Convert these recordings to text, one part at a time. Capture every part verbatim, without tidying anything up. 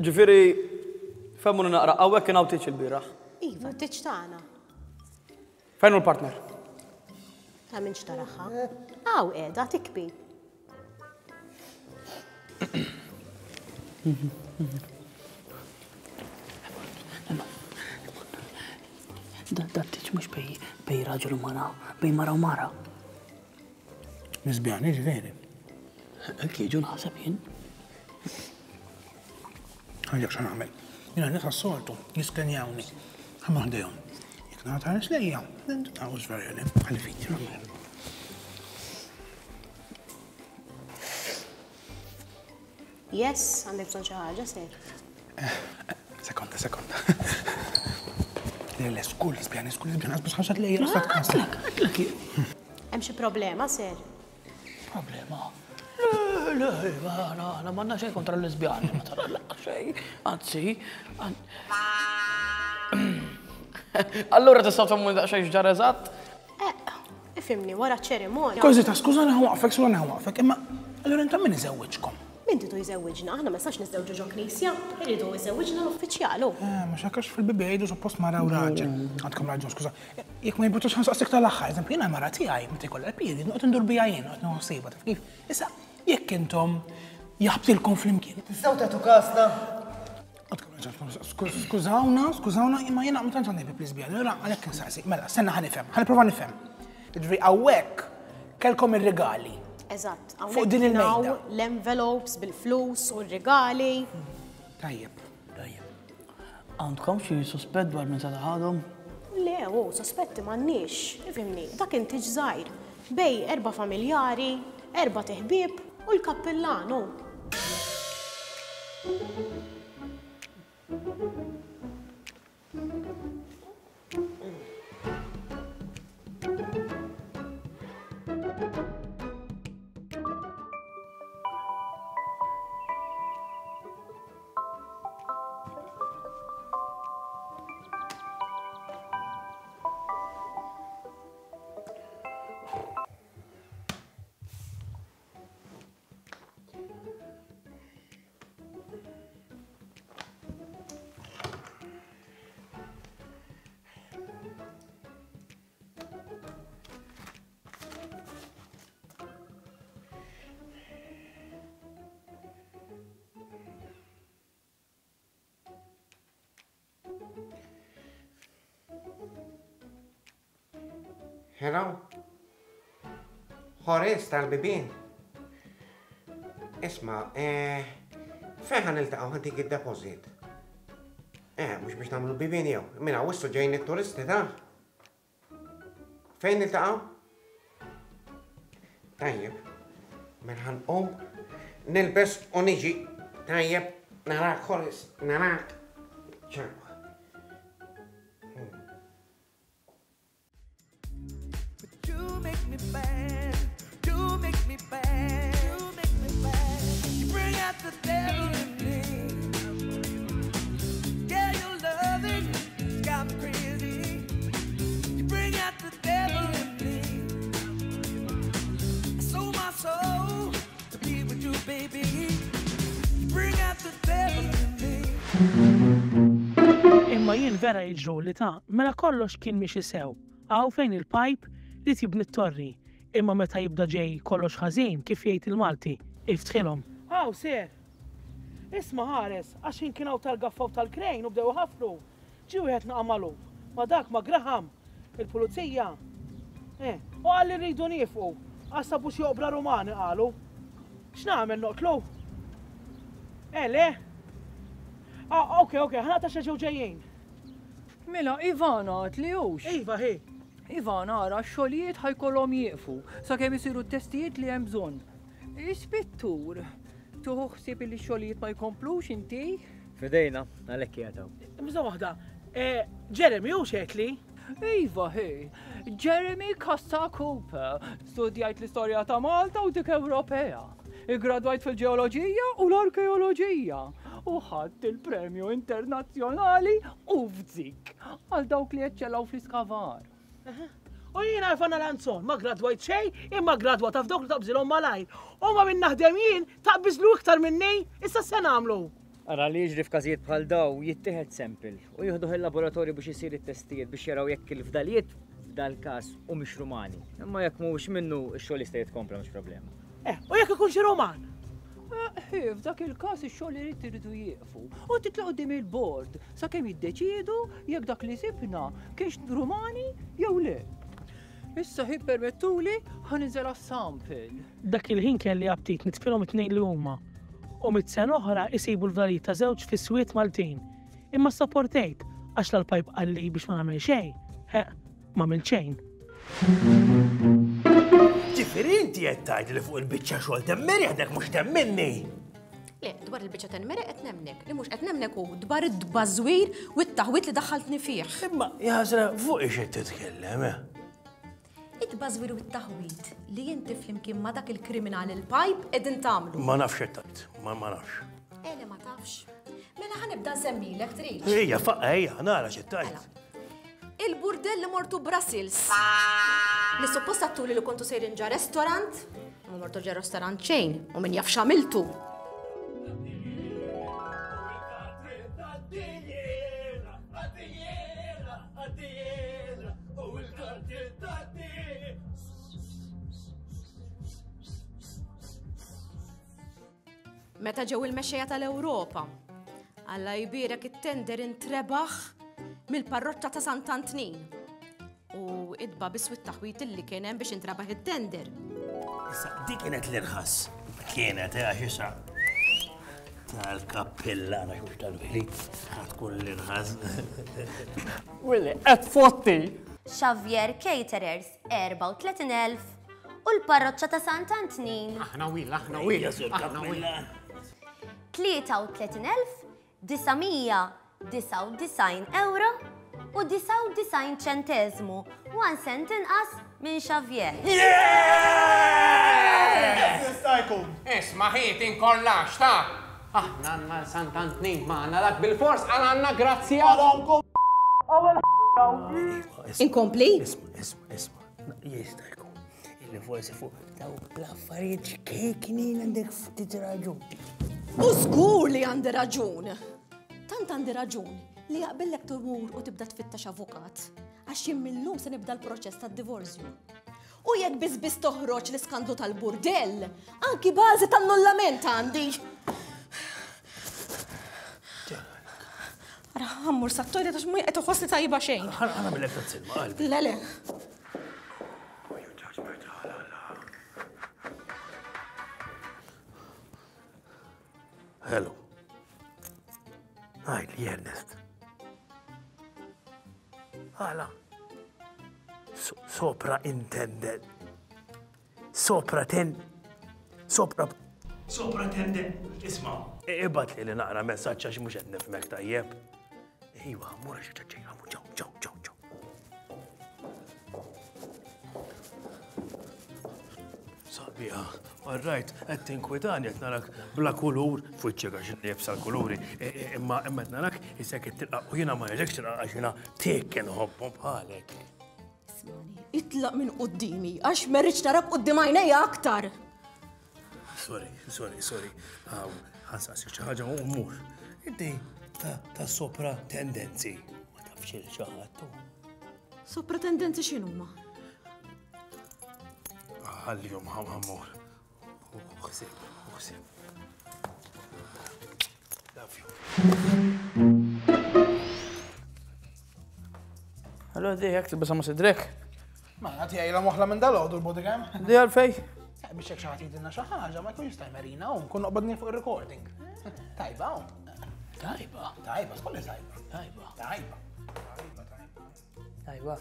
Ġifieri, fehmuni naqra, hawnhekk kien hawn tieġ il-bieraħ. Iva, tieġ tagħna. Fejn hu l-partner? Ta' minn xtaraħħa. Hawn qiegħda tikbi. Da tieġ mhux bej bej raġel u mara, bej mara u mara. Nisbjani ġifieri. Hekk jiġu naħseb jien. Għandek xa nagħmel. Jiena nies għas-soltu jiskenjawni. Ħa ħdejhom. Jekk nagħta ħares lejja, nagħu żverjoni, ħalli fiti. Yes, għandek bżonn xi ħaġa, sir. Sekonda, sekonda. Le, le, skull, lesbjani, skull, lesbjani, għasbus ħaxat lejja, għasbus ħaxat Għatlek, Hemm xi problema, sir? Problema? Le, le, aħna m'għandna xejn kontra l-lesbjani, ma tara laqqa xejn, anzi. Allura tistgħu tfehmuni daqsxejn x'ġara eżatt? Eh, ifhimni, wara ċ-ċerimonja. Kważi ta' skużani ħa waqfek, skużani ħa waqfek, imma allura intom min iżewwiġkom? Min tidu jżewwiġna? Aħna ma nistax niżżewġu ġo knisja, irridu jżewwiġna l-uffiċjal. Eh, mhux hekk għax fil-Bibbja jgħidu suppost mara u raġel. Għandkom raġun, skuża. Jekk ma jimpurtax ħa nsaqsik tal-aħħar, eżempju, jiena mara tiegħi meta jkollha l-period, noqgħod indur bija jien, noqgħod nieħu ħsiebha, taf kif? Issa, jekk intom jaħbtilkom flimkien. Tistgħu tagħtu kasna? Għandkom raġun, skużawna, skużawna, imma jiena ma tantx għandi ħbieb lesbjani, allura għalhekk insaqsi. Mela, stenna ħa nifhem, ħa nipprova nifhem. Jiġifieri hawnhekk kellkom ir-rigali. Eżatt, Fuq din hawnhekk il-mejda. hawn l-envelopes bil-flus u r-rigali. Tajjeb, tajjeb. Għandkom xi suspett dwar minn seta' ħadhom? Le, u sospetti m'għandniex, ifhimni, dak inti żgħir. Bej erba' familjari, erba' teħbieb u l-kappillanu. Hello? Horace tal-bibien. Isma, eh, fejn ħa niltaqgħu ħa ntik id-deposit? Eh, mhux biex nagħmlu l-bibien jew. Minn hawn wissu ġejjin it-turisti ta'. Fejn niltaqgħu? Tajjeb. Mela ħa nqum, nilbes u niġi. Tajjeb, narak Horace, narak. Ciao. You make me bad. You make me bad. You make me bad. You bring out the devil in me. Yeah, your loving got me crazy. You bring out the devil in me. I sold my soul to be with you, baby. You bring out the devil in me. Imma jien vera jiġru li ta' mela kollox kien miexi sew. Hawn fejn il-pajp li tibni t-torri. Imma meta jibda ġej kollox ħażin kif jgħid il-Malti, iftħilhom. Hawn ser. Isma' ħares, għax kien hawn tal-gaffa u tal-krejn u bdew ħafru. Ġie wieħed naqa' magħluq. Ma dak ma Graham, il-pulizija. Eh, u qal li rridu nieqfu. Għax sabu xi oqbra Rumani qalu. X'nagħmel noqtlu? Eh, le? Ah, ok, ok, ħa naqta' xi ġew ġejjin. Mela, Ivana, għat li hux. Iva, hi. Ivana, ara, x-xogħlijiet ħa jkollhom jieqfu sakemm isiru t-testijiet li hemm bżonn. Ispettur, tuħu ħsieb li x-xogħlijiet ma jkomplux inti? Fidejna, għalhekk qiegħed hawn. Bżonn waħda. Eh, Jeremy, hux li? Iva, hi. Jeremy Costa Cooper. Studjajt l-istorja ta' Malta u dik Ewropea. Igradwajt fil-ġeoloġija u l-arkeoloġija. U ħadt il-premju internazzjonali u f'zik għal dawk li eċċellaw fl-iskavar. U jiena Ivana Lanzon, ma gradwajt xejn, imma gradwata f'dawk li taqbżilhom malajr. U ma minn naħdem jien taqbiżlu iktar minni, issa se nagħmlu. Ara li jiġri f'każijiet bħal daw jittieħed sample u jieħduh il-laboratorju biex isir it-testijiet biex jaraw jekk il-fdalijiet f'dal-każ u mhix Rumani. Imma jekk mhuwiex minnu x-xogħol jista' jitkompla mhux problema. Eh, u jekk ikun xi Ruman? Eh, f'dak il-każ ix-xogħol irid iridu jieqfu u titlaq quddiem il-bord sakemm jiddeċiedu jekk dak li sibna kienx Rumani jew le. Issa hi permettuli ħa ninżel għas-sample. Dak il-ħin kelli aptit nitfilhom it-tnejn li huma. U mit sena oħra isibu l-fdalijiet ta' żewġ fis-swiet Maltin. Imma sopportejt għax l-pajp qalli biex ma nagħmel xejn. He, ma għamilt xejn. Ġifieri inti qed tgħid li fuq il-biċċa xogħol temmeri għadek mhux temminni. Le, dwar il-biċċa temmeri qed nemnek, li mhux qed nemnek hu dwar id-bażwir u t-taħwit li daħħaltni fih. Imma jaħsra fuq ix qed titkellem, eh? It-bażwir u t-taħwit li inti flimkien ma dak il-kriminali l-pajp qegħdin tagħmlu. Ma nafx qed tgħid, ma ma nafx. Eh, le ma tafx. Mela ħa nibda nsemmilek trid. Ejja, faqqa, ejja, nara x'qed tgħid. Il-burdell li mortu Brussels. Li suppost għattuli li kontu sejrin ġa restaurant, ma mortu ġa restaurant xejn, u min jaf x'għamiltu. Meta ġew il-mexxejja tal-Ewropa, Alla jbierek it-tender intrebaħ mill-parroċċa ta' Sant'Antnin. U idba biswit taħwit illi kien hemm biex intrebaħ it-tender. Issa, dik kienet l-irħas. Kienet, eh, għax issa tal-kappillana mhux tal-veri, ħa tkun l-irħas. Willi, qed fotti! Xavier Caterers, erbgħa u tletin elf u l-parroċċa ta' Sant'Antnin. Aħna wil, aħna wil, Ejja, sur aħna wil. kappillan. Tlieta u tletin elf disa' mija disgħa u disgħin euro u disgħa u disgħin ċenteżmu, one cent inqas minn Xavier. Yeah! Jista' jkun. Isma' ħiet inkollax ta' aħna għandna l-Sant'Antnin magħna dak bil-fors għal għandna grazzja. Inkompli? Isma', isma', isma'. Jista' jkun. Illi forsi fuq dawk l-affarijiet xkejknin għandek ftit raġun. U żgur li għandi raġun. Tant għandi raġun li jaqbillek tmur u tibda tfittex avukat. Għax jien millum se nibda l-proċess tad-divorzju. U jekk biss biss toħroġ l-iskandlu tal-burdell, anki bażi tan-nullament għandi. Ara, ħammur sat-toilet għax mhu qed iħossni tajba xejn. Ħa nagħmilek tazz-ilma, qalbi. Le, le. Hello. Għajli, Ernest. Għala. Sopra intended. Sopra ten. Sopra. Sopra tended. Isma, ibat li li naqra messaġġ għax mhux qed nifhmek tajjeb. Iwa, mur għax ċaċċej, għamu ċaw, ċaw, ċaw, ċaw. Sabiħa, all right, qed tinkwitani qed narak bla kulur, f'wiċċek għax nibsa l-kuluri, e, e, imma imma qed narak isek qed tilqaq u jiena ma rridekx tilqaq għax jiena tik inħobbhom bħalek. Ismani, itlaq minn qudiemi għax ma rridx narak quddiem għajnejja aktar. Sorry, sorry, sorry. Aw, ħansaqsik xi ħaġa u mmur. Inti ta' ta' sopra tendenzi. Ma tafx il xi ħadd tu. Sopra tendenzi x'inhuma? Ħallihom ħammur. Uħsib, uħsib. Love you. Allora di jekk tilbisha ma' sidrek. Ma għati għajla moħla minn dal-għodu l-bodycam. Di għalfej? Eh, biex jekk xi ħadd jgħidilna xi ħaġa ma jkun jista' jmerina u nkun noqbadni fuq ir-recording. Tajba hawn. Tajba. Tajba, skolli tajba. Tajba. Tajba. Tajba, tajba. Tajba.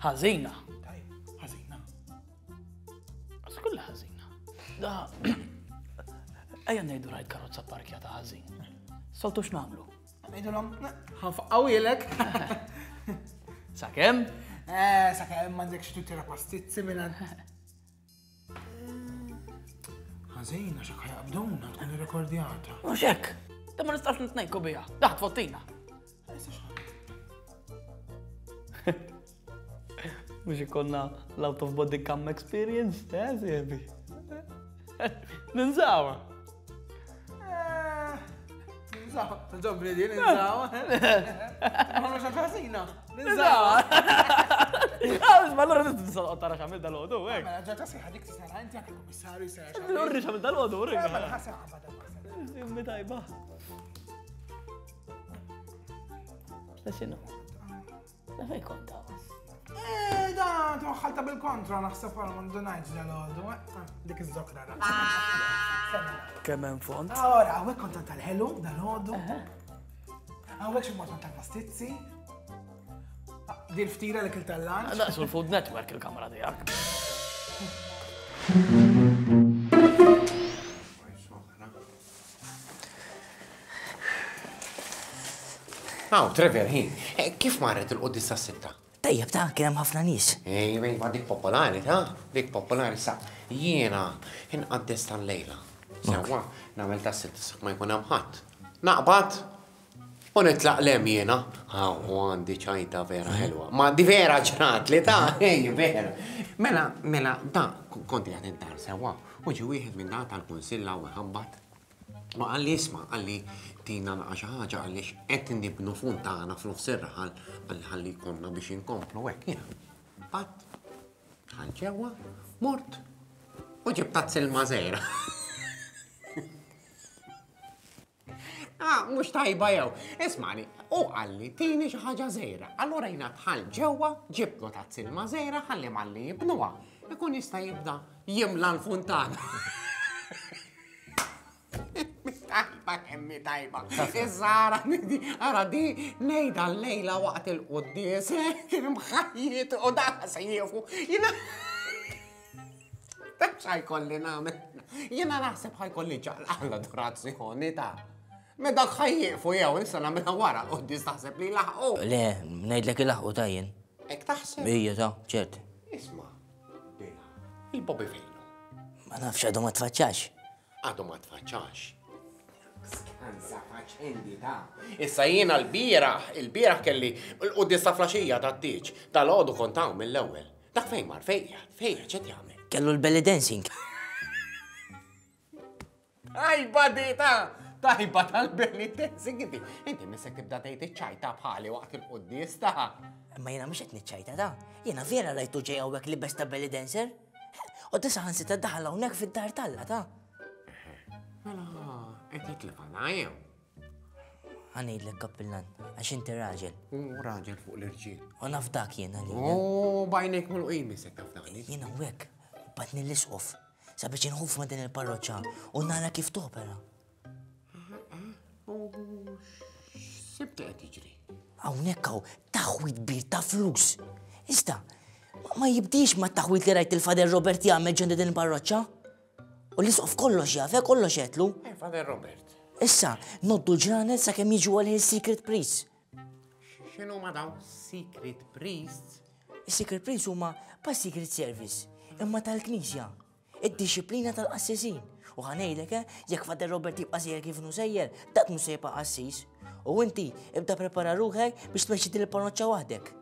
Ħażina. Tajba, ħażina. Skolla ħażina. Da. Ejja ngħidu rajt karozza parkjata ħażin. Soltu x'nagħmlu? Ngħidulhom, ħanfaqqawilek. Sakemm? Eh, sakemm m'għandekx tira pastizzi minn għand. Ħażina x'hekk ħajqabduna tkun irrekordjata. Mhux hekk. Da ma nistax nitnejku biha. Daħt fottina. Mux ikonna l-out of body cam experience, eh, sieħbi? Ninżawa. Ninżawa, ġobri di, ninżawa. Ma mux ħażina. Ninżawa. Ma allora tista' tara x'għamil dal-għodu, hekk. Mela ġa tasih dik tista' inti anke kummissarju sera. Urri x'għamil dal-għodu, urri. Mela ħaseb qabad. Immi tajba. La x'inhu? La fejn kont Eh, da, twaħħalta bil-kontra, naħseb għal mandu ngħid dal-għodu. Dik iż-żokra ra. Kemm hemm font? Ora, hawnhekk kontant tal-ħelu dal-għodu. Hawnhekk xi mod tal-pastizzi. Di l-ftira li kilt tal-lunch. Daqsu l-Food Network il-kamra tiegħek. Aw, Trevor, hi, kif marret il-quddies tas-sitta? Tajjeb ta' kien hemm ħafna nies. Ej, ma dik popolari, ta' dik popolari sa' jiena inqaddes tal-lejla. Sewwa, nagħmel tas-sitta sa ma jkun hemm ħadd. Naqbad u nitlaq lem jiena. Aw, u għandi ċajta vera ħelwa. Ma di vera ġrat li ta' ej, vera. Mela, mela, da, konti qed id-dar sewwa. U ġi wieħed minn da tal-kunsilla u ħabbat. Ma qalli isma', qalli tina naqa' xi ħaġa għaliex qed nibnu funtana f'nofs ir-raħal qalli ħalli jkollna biex inkomplu hekk jiena. Bat, dħalt ġewwa, mort u ġibt tazz ilma żgħira. Ah, mhux tajba jew. Ismani, u qalli tini xi ħaġa żgħira. Allura jiena dħalt ġewwa, ġibtlu tazz ilma żgħira ħalli malli jibnuha. Ikun jista' jibda jimla l-funtana. Tajba kemmi tajba. Issa ara ara di ngħidha llejla waqt il-quddies imħajjiet u da se jiefu. Jiena taf x'ħajkolli nagħmel. Jiena naħseb ħajkolli ċaqlaq l-adorazzjoni ta' Me dak ħajjieqfu jew issa nagħmilha wara l-quddies taħseb li laħqu. Le, ngħidlek ilaħqu ta' jien. Hekk taħseb? Ija ta' ċert. Isma' il-Bobby fejnu. Ma nafx għadu ma tfaċċax. Għadu ma tfaċċax. Skanza faċendi ta'. Issa jiena l-bieraħ, il-bieraħ kelli l-quddies ta' flaxija ta' tieġ, tal-għodu kont hawn mill-ewwel. Dak fejn mar, fejn qiegħed, fejn qiegħed x'qed jagħmel? Kellu l-belly dancing. Tajba di ta' tajba tal-belly dancing inti. Inti missek tibda tgħid iċ-ċajta bħali waqt il-quddies ta'. Imma jiena mhux qed niċċajta ta'. Jiena vera rajtu ġej hawnhekk li besta belly dancer. U disa ħansita daħal hawnhekk fid-dar talla ta'. Mela, qed jitlef għana jew? Ħa ngħidlek kappillan, għax inti raġel. U raġel fuq l-irġiel. U naf dak jiena li. U bajnek mill-qim isek taf dani. Jiena hawnhekk batni l-isqof sabiex inħuf ma' din il-parroċċa u nara kif topera. U x'sibt qed jiġri? Hawnhekk hawn taħwit kbir ta' flus. Iżda, ma jibdix ma' taħwit li rajt il-Fader Robert jagħmel ġo din il-parroċċa. U l-isqof kollox jaf, kollox għetlu. Eh, Fader Robert. Issa, noddu l-ġranet sakemm jiġu għal il-Secret Priests. X'inhu ma dawn Secret Priests? Is-Secret Priests huma pa' Secret Service, imma tal-Knisja. Id-disciplina tal-qassisin. U ħa ngħidlek, eh, jekk Fader Robert jibqa' sejjer kif inhu sejjer, dak mhux se jibqa' qassis. U inti ibda prepara ruħek biex tmexxi din il-parroċċa waħdek.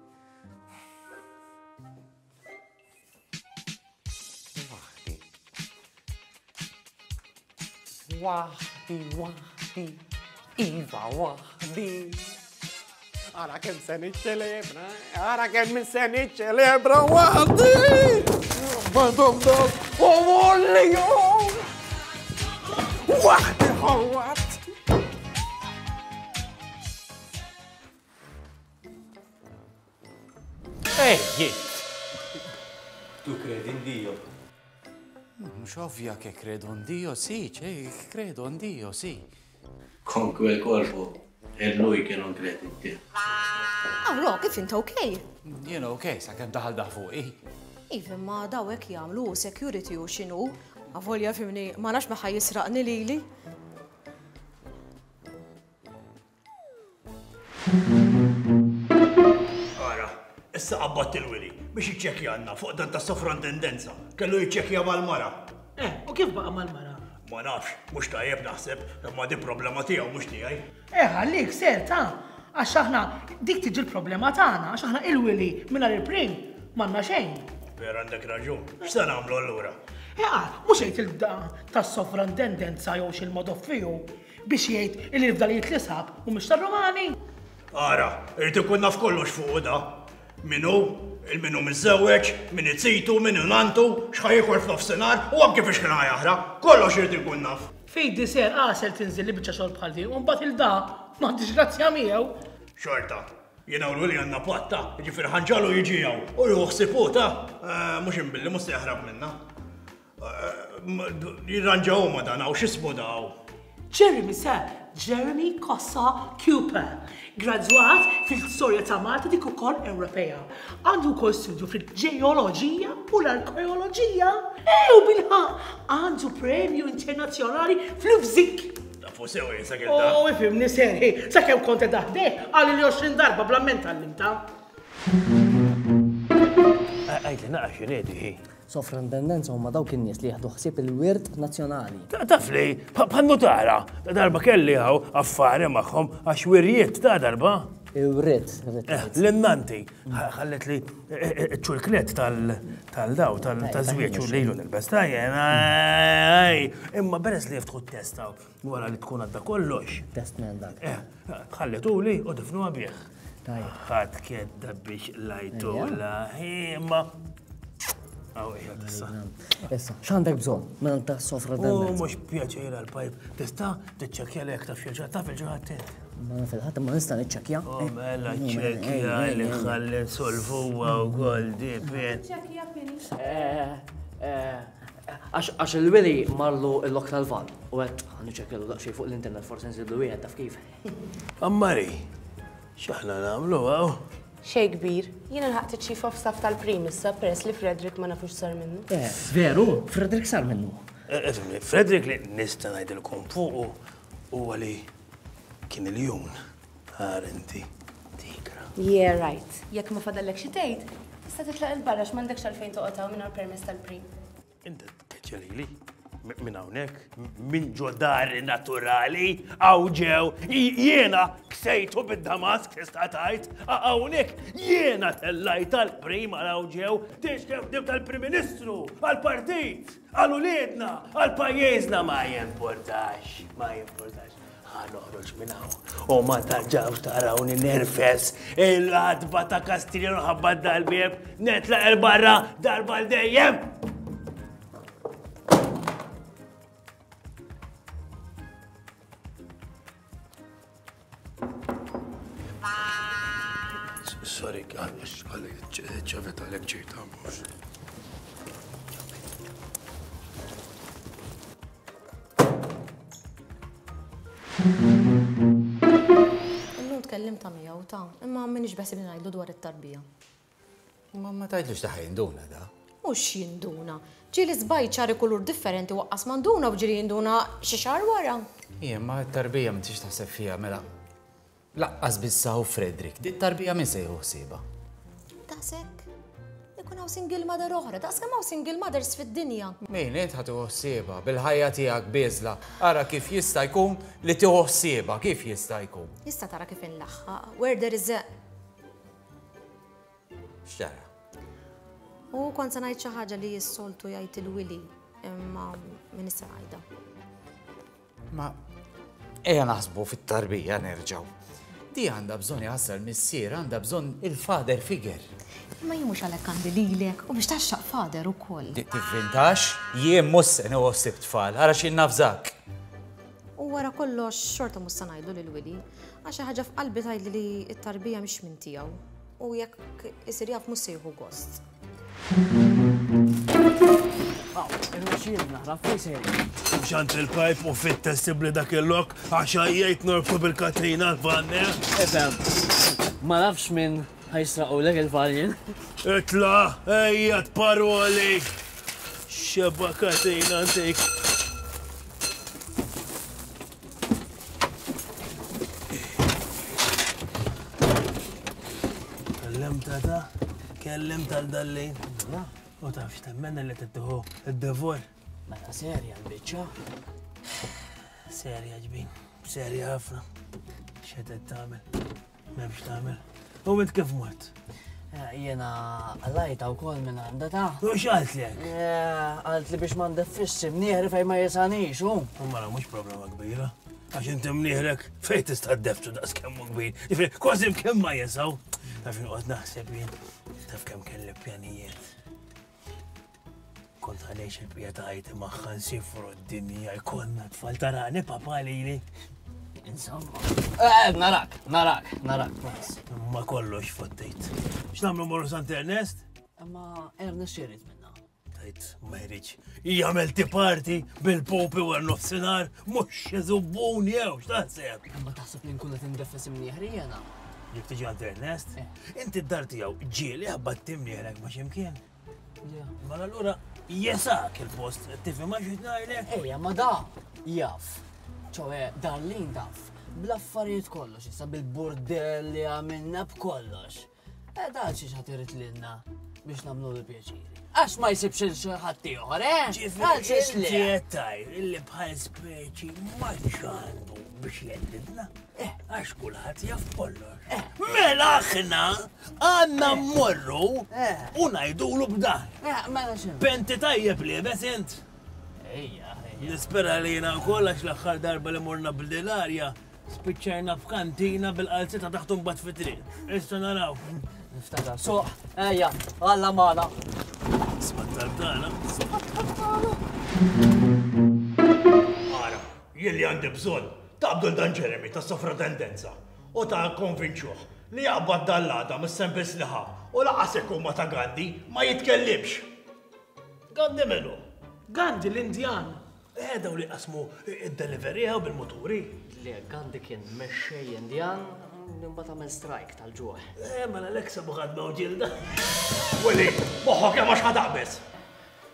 Waħdi, waħdi, iva waħdi. Ara kemm se niċċelebra, ara kemm se niċċelebra waħdi. Badum dom, u molli jom. Waħdi ħawat. Ej, jien. Tu credi in Dio? Mhux ovvja che credo in Dio, sì, cioè, credo in Dio, sì. Con quel corpo è lui che non crede in te. Ah, Ro, kif int okej? Jiena okej, sakemm daħal daħ fuqi. Iva, ma daw hekk jagħmlu security u x'inhu. Avolja fimni, ma nafx ma ħaj jisraqni lili. Ara, issa qabbadt il-Wili biex jiċċekkjanna fuq dan ta' sovrantendenza. Kellu jiċċekkja mal-mara. Eh, u kif baqa' mal-mara? Ma nafx, mhux tajjeb naħseb, imma di problema tiegħu mhux tiegħi. Eh, ħallik ser ta' għax aħna dik tiġi l-problema tagħna, għax aħna il-Wili mingħajr il-prim M'għandna xejn. Per għandek raġun. X'se nagħmlu allura? Eqa, mhux jgħid il-da tas-sovrantendenza jew x'il-modoffiju biex jgħid li l-fdalijiet li sab u mhux tar-Rumani. Ara, irid ikun naf kollox fuq da. Min hu, il-min hu miżżewweġ, min itsitu, min hu nantu, x'ħa jiekol f'nofsinhar u anke fiex kien jaħraq. Kollox irid ikun naf. Fejdi ser għasel tinżil li biċċa xogħol bħal din u mbagħad il-da m'għandix grazzja miegħu. Xorta, jiena u l-Willi għandna patta, jiġifieri ħanġalu jiġi hawn u jieħu ħsieb hu ta' mhux imbilli mhux se jaħrab minna. Jirranġaw ma dan hawn x'ismu daw. Jeremy sir, Jeremy Cossa Cooper, gradwat fil-storja ta' Malta dik ukoll Ewropea. Għandu wkoll studju fil-ġeoloġija u l-arkeoloġija. E u bilħaq għandu premju internazzjonali fl-Ufzik. Tafu sew jien sa kif Oh, ifhimni serħi, sakemm kont qed aħdeh qal li għoxrin darba bl-amment għallimta. Għidli naqra x'inhi hi. Sovrantendenza huma dawk in-nies li jieħdu ħsieb il-wirt nazzjonali. Taf li, bħal nutara, ta' darba kelli hawn affari magħhom għax wirjiet ta' darba. Iwrit, irrit. L-innanti, ħallet li ċ-ċurklet tal-daw, tal-żwieġ u lilu nilbes tajjen. Imma peress li jiftħu t-test wara li tkun għadda kollox. Test minn dak. Ħalletuli u difnuha bih. Tajjeb. Ħadd kedda biex lajtula, imma Aw, ejja, issa. Issa, x'għandek bżonn minn ta' sovrantendenza? U mhux pjaċir għall-pajp. Tista' tiċċekkja lek taf xi taf il-ġraħat int. Ma naf il-ħadd imma nista' niċċekkja. U mela ċċekkja li ħalli nsolvuha wkoll di pin. Ċekkja pini. Għax il-Willi marlu l-lok tal-van u għedt ħa niċċekkjalu daqsxejn fuq l-internet forsi nżidlu wieħed taf kif. Ammari, x'aħna nagħmlu hawn? Xej kbir, jiena lħaqt iċ-chief of staff tal-prim issa peress li Frederick ma nafux sar minnu. Eh, veru, Frederick sar minnu. Ifhimni, Frederick li nista' ngħidilkom fuqu huwa li kien iljun għar inti tigra. Yeah, right. Jekk ma fadallek xi tgħid, tista' titlaq il-barra x'm'għandekx għalfejn toqgħod hawn mingħajr permess tal-prim. Inti tkeċċa lili minn hawnhekk, minn ġo dari naturali, hawn ġew, jiena ksejtu bid-Damask tista' tgħid, hawnhekk jiena tellajt tal-prim għal hawn ġew, tixkef dim tal-Prim Ministru, għall-partit, għal uliedna, għal pajjiżna ma jimportax, ma jimportax. Ħa noħroġ minn hawn u ma tarġawx tarawni nerfes il-għatba ta' Kastilja nħabba dal-bieb, netlaq il-barra darba l-dejjem. Sorry, għalix, għalix, ċavet għalek ġejta, mux. Illum tkellimt ta' miegħu ta' imma m'iniex beħsibni ngħidlu dwar it-tarbija. Ma ma tgħidlux ta' jinduna da. Mhux jinduna. Ġieli żbajt ċari kulur differenti waqqas manduna u ġieli jinduna xi xahar wara. Ija, ma t-tarbija ma tix taħseb fiha mela. Laqqas bissa u Frederick, di tarbija min se jieħu ħsiebha? Daqshekk. Ikun hawn single mother oħra, daqs kemm hawn single mothers fid-dinja. Min int ħa tieħu ħsiebha bil-ħajja tiegħek bieżla. Ara kif jista' jkun li tieħu ħsiebha, kif jista' jkun. Issa tara kif inlaħħaq, where there is a X'tara? U kont se ngħid xi ħaġa li s-soltu jgħid il-Willi, imma min issa ngħidha. Ma ejja naħsbu fit-tarbija nerġgħu. Di għandha bżonn jaħsel missier, għandha bżonn il-father figure. Imma jien mhux għalhekk għandi lilek u biex taxxaq father ukoll. Tivvintax, jien mhux se nieħu ħsieb tfal, ara xi nafżak. U wara kollox xorta mhux se ngħidlu lil Willi, għax xi ħaġa f'qalbi tgħidli li t-tarbija mhix minn tiegħu u jekk isir jaf mhux se jieħu gost. Xant il-pajp u fit testibli dak il-lok għax għajjajt norbtu bil-katina l-vanne. Efem, ma nafx minn ħajsraqulek il-vanjen. Itla, ejja paroli. Xeba katina antik. Kellem tata, kellem tal-dallin. U taf x'temmen li tittieħu id-devor. Mela serja l-biċċa. Serja ġbin, serja ħafna. X'qed tagħmel? M'hemmx tagħmel. U int kif mort? Jena għallajta u kol minn għanda ta' U x'għaltlek? Għalt li biex ma ndeffisx imnieħri fejn ma jesanix, u. Mela mhux problema kbira. Għax inti mnieħrek fejn tista' ddeftu daqs kemm hu kbir. Ġifieri kważi kemm ma jesaw. Taf inqgħod naħseb jien, taf kemm kelli pjanijiet. Kont għaliex il-pija ta' ħajti magħha nsifru d-dinja jkollna tfal tarani papa lili. Insomma. Eh, narak, narak, narak, nice. Ma kollox fottejt. X'nagħmlu morru Sant Ernest? Imma Ernest x'irid minna. Tajt, ma jridx. Jagħmel ti party bil-popi wara nofsinhar, mhux xi żubbun jew x'taħseb. Imma taħseb li nkun qed indeffes imnieħri jiena? Jekk tiġi għand Ernest, inti d-dar tiegħu ġieli ħabbat imnieħrek ma' x'imkien. Mela allura jesak il-post, tifhem għax qed ngħidlek? Ejja, ma da jaf. ċoħe, Darlene taf, bl-affarijiet kollox, issa bil-burdell li għamilna b'kollox. E da xi ħadd irid lilna biex nagħmlu l pjaċiri. Għax ma jsibx il xi ħadd ieħor, eh? Għal xiex Ġifieri le? qed tgħid illi bħal speċi ma għandu biex jeddidna. Għax kulħadd jaf kollox. Mela aħna għandna mmorru u ngħidulu b'dan. Eh, mela x'inhu? Penti tajjeb liebes int. Ejja, ejja. Nispera li jiena wkoll għax l-aħħar darba li morna bl-arja spiċċajna f'kantina bil-qalzita taħt imbagħad fit-triq. Issa naraw. Niftakar. Suq, ejja, Alla magħna. Isma' t-talb tagħna. Ara, jien li għandi bżonn taqbdu l dan Jeremy ta' sovratendenza u ta' konvinċuh li jaqbad dal-lada mis-sempis li ħa u laqas ikun ma ta' Gandhi ma jitkellimx. Gandhi menu? Gandhi l-Indjan. Eh, daw li qasmu id-delivery u bil-muturi. Le, Gandhi kien mexxej Indjan li mbagħad għamel strike tal-ġuħ. Eh, mela l-eksa buħad ma' ġilda. Willi, moħħok hemm għax ħadaqbes.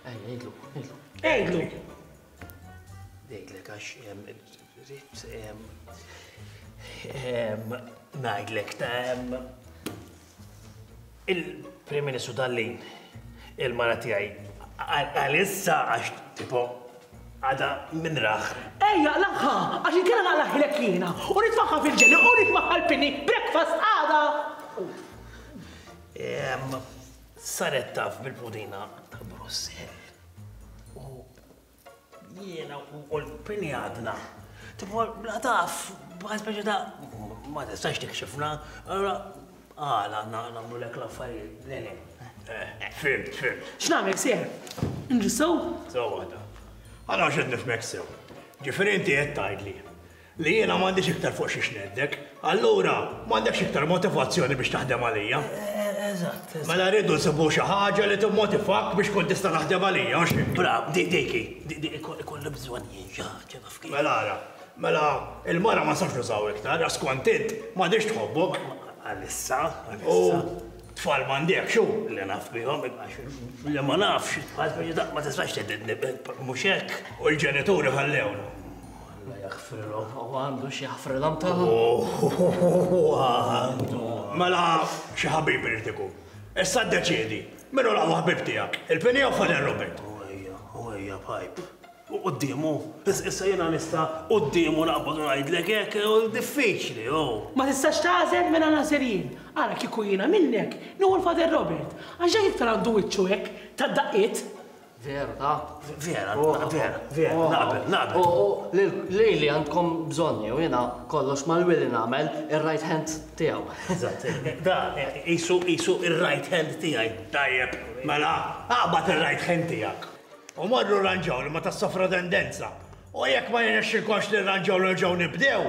Ejja, għidlu, għidlu. Għidlu. Ngħidlek għax em, rrid em, em, ngħidlek ta' em, il-Prim Ministru Dallin, il-mara tiegħi għalissa għax tipo għada minn raħ. Ejja, laħħa, għax inkella naqlaħilek jiena u nitfaħħa fil-ġeli u nitfaħħa l-pini breakfast għada. Em, Saret taf bil-pudina ta' Brussell. U jiena u l-pini għadna. Tipo, la taf, bħal speċi ta' ma tistax tikxifna, allura għala nagħmlu lek l-affarijiet. Le, le. Eh, Fimt, fimt. X'nagħmel seher? Nġissew? Sew waħda. Għana xed nifmek sew. Ġifieri inti qed tgħidli li jiena m'għandix iktar fuq xi xneddek, allura m'għandekx iktar motivazzjoni biex taħdem għalija. Eżatt. Mela rridu nsibu xi ħaġa li timmotivak biex kont tista' taħdem għalija, hux hekk? Bravo, dik diki, ikolli bżonn jien xi ħaġa taf kif. Mela ara, mela il-mara ma nistax nużaw iktar, għax kont int m'għandix tħobbok. Għalissa, U għalissa. tfal m'għandek xu? Li naf bihom, għax li ma nafx, bħal speċi ta' ma tistax teddidni, mhux hekk. U l-ġenituri ħallewna. Alla jaħfrilhom. U għandu xi jaħfrilhom ta' Għandu. Mela xi ħabib irid ikun. Issa ddeċiedi, min hu l-aqwa ħabib tiegħek? Il-Pini jew Father Robert? U ejja, u ejja, pipe. U quddiemu, issa jiena nista' quddiemu naqbad u ngħidlek hekk, u diffiċli, u. Ma tistax tagħżel mela nagħżel jien. Ara kieku jiena minnek, nieħu l-Father Robert. Għax dak iktar għandu wiċċu hekk tad-daqqiet. Veru, ta' Vera, vera, vera, naqbel, naqbel. U li li għandkom bżonni u jiena kollox mal-Willi nagħmel ir-right hand tiegħu. Eżatt, da, isu, isu ir-right hand tiegħi. Tajjeb, mela, aqbad ir-right hand tiegħek. U morru ranġaw li ma tas-sovratendenza. U jekk ma jirnexxilkomx li rranġaw li nerġgħu nibdew,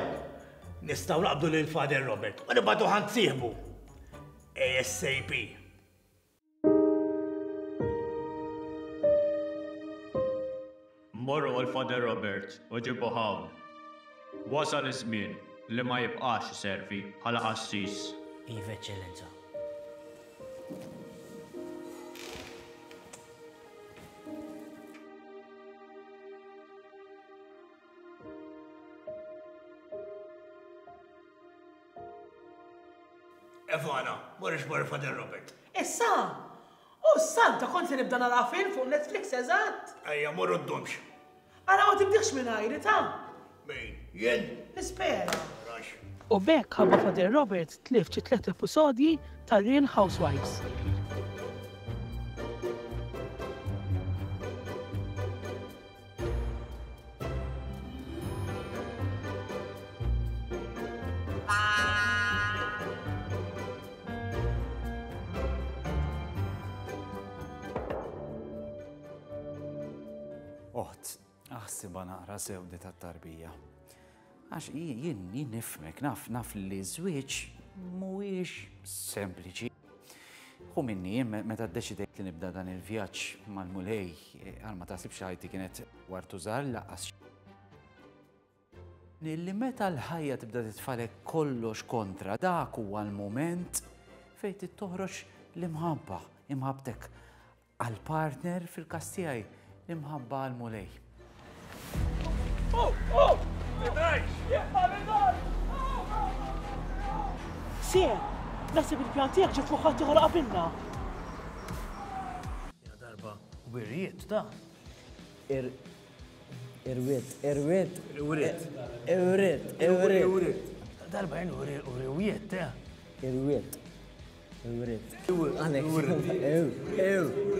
nistgħu naqbdu lil Father Robert u nibgħatu ħand sieħbu. A S A P. Morru għal Father Robert u ġibu hawn. Wasal iż-żmien li ma jibqax iservi bħala qassis. Iva, Eċċellenza. Evana, morrix mor Father Robert. Issa, u s-santa kont se nibda nara film fuq Netflix eżatt. Ejja, morru ddumx. Ara ma tibdiħx minn għajri ta' Min? Jien? Nispera. U b'hekk ħabba Father Robert tlift xi tliet episodji ta' Real Housewives. Oħt, aħsibha naqra sew di tat-tarbija. Għax jien jien nifhmek, naf naf li żwieġ mhuwiex sempliċi. Hu minni jien meta ddeċidejt li nibda dan il-vjaġġ mal-Mulej, għal ma taħsibx ħajti kienet wartu żgħar lanqas. Li meta l-ħajja tibda titfalek kollox kontra, dak huwa l-mument fejn trid toħroġ l-imħabba, imħabbtek għall-partner fil-każ tiegħi, l-imħabba għall-Mulej. Oh, oh! Sir, naħseb il-pjan tiegħek ġie fuq ħadd ieħor qabilna. Ja darba wirjiet ta'. Ir irwiet, irwiet. Irwiet. Irwiet, irwiet. Darba jien irwiet ta. Irwiet. Irwiet. Għalek. Ew, ew.